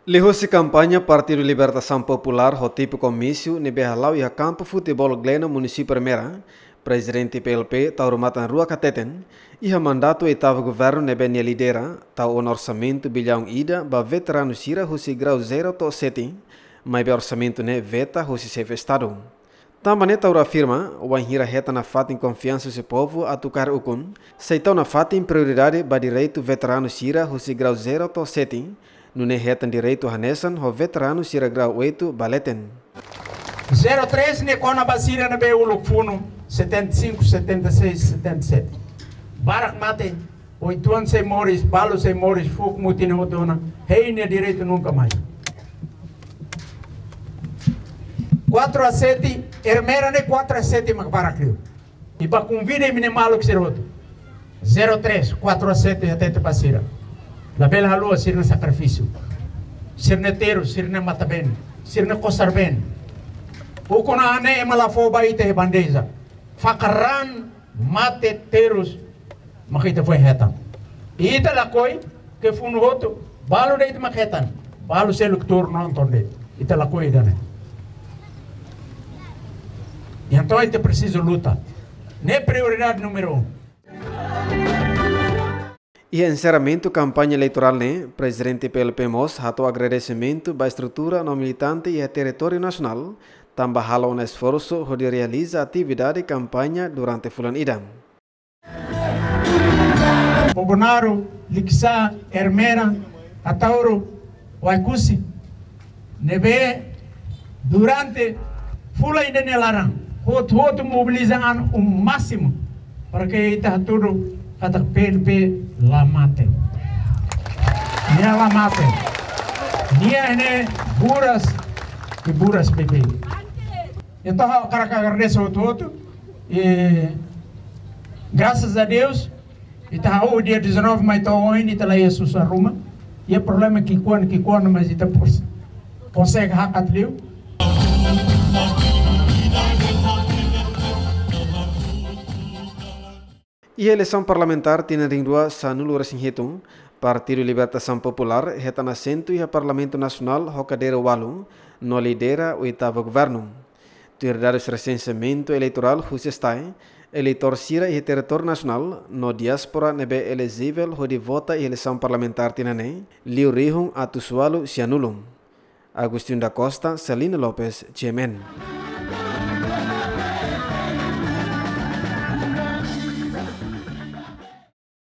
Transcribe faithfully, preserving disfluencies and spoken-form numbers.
Liuhusi kampaña Partidu Libertasaun Populár ho tipu komísiu ne'ebé hala'o iha kampu futeból Gleno, Munisípiu Ermera, Prezidente P L P, Taur Matan Ruak hateten, iha mandatu oitavu governu ne'ebé nia lidera, tau ona orsamentu billaun ida ba veteranu sira husi grau zero to'o sete, maibé orsamentu ne'e veta husi Xefe Estadu. Tanba ne'e Taur afirma, wainhira hetan nafatin konfiansa husi povu atu kaer ukun, sei tau nafatin prioridade ba direitu veteranu sira husi grau zero to'o sete, nune'e hetan direitu hanesan ho veteranu sira grau oito ba leten. Zero três ne'e kona-ba sira ne'ebé uluk funu setenta e cinco, setenta e seis, setenta e sete. Barak mate, oituan sei moris, balu sei moris, fuuk mutin hotu ona, hein nia direitu nunka mais. Quatro a sete, Ermera ne'e quatro a sete mak barak liu. I ba konvida imi-nia maluk sira hotu. Zero três, quatro a sete hatete ba sira. Labele haluha sira-nia sakrifísiu. Sira-nia terus, sira-nia matan-been, sira-nia kosar-been. Ukun-an ne'e ema la fó ba ita iha bandeja. Fakar raan, mate, terus, mak ita foin hetan. Ita lakohi, ke funu hotu, balu de'it mak hetan. Balu seluk tuur nonton de'it. Ita lakohi ida-ne'e. Entaun ita presiza luta. Ne'e prioridade número um. Iha enserramentu kampaña eleitorál ne'e, Prezidente P L P mós hato'o agradesimentu ba estrutura no militante iha territóriu nasionál, tanba halo ona esforsu hodi realiza atividade kampaña durante fulan ida. Bobonaro, Likisá, Ermera, Ataúro, Oekusi, ne'ebé durante fulan ida nia laran, hotu-hotu mobiliza an o másimu para ke ita hatudu katak P L P la mate. Nia la mate. Nia ne'e buras i buras beibeik. Entaun ha'u hakarak agradese hotu-hotu. I grasas a Deus, ita hahú dia dezanove mai to'o ohin ita la iha susar ruma. Iha problema ki'ikoan, ki'ikoan, mas ita pos-, konsege hakat liu. Iha eleisaun parlamentár tinan rihun rua sanulu-resin-hitu, Partidu Libertasaun Populár hetan asentu iha Parlamentu Nasionál ho kadeira ualu, no lidera oitavu governu. Tuir dadus resenseamentu eleitorál husi STAE, eleitór sira iha territóriu nasionál no diáspora ne'ebé elejivel hodi vota iha eleisaun parlamentár tinan ne'e, liu rihun atus ualu sianulu. Agostinho da Costa, Celina Lopes, G M N.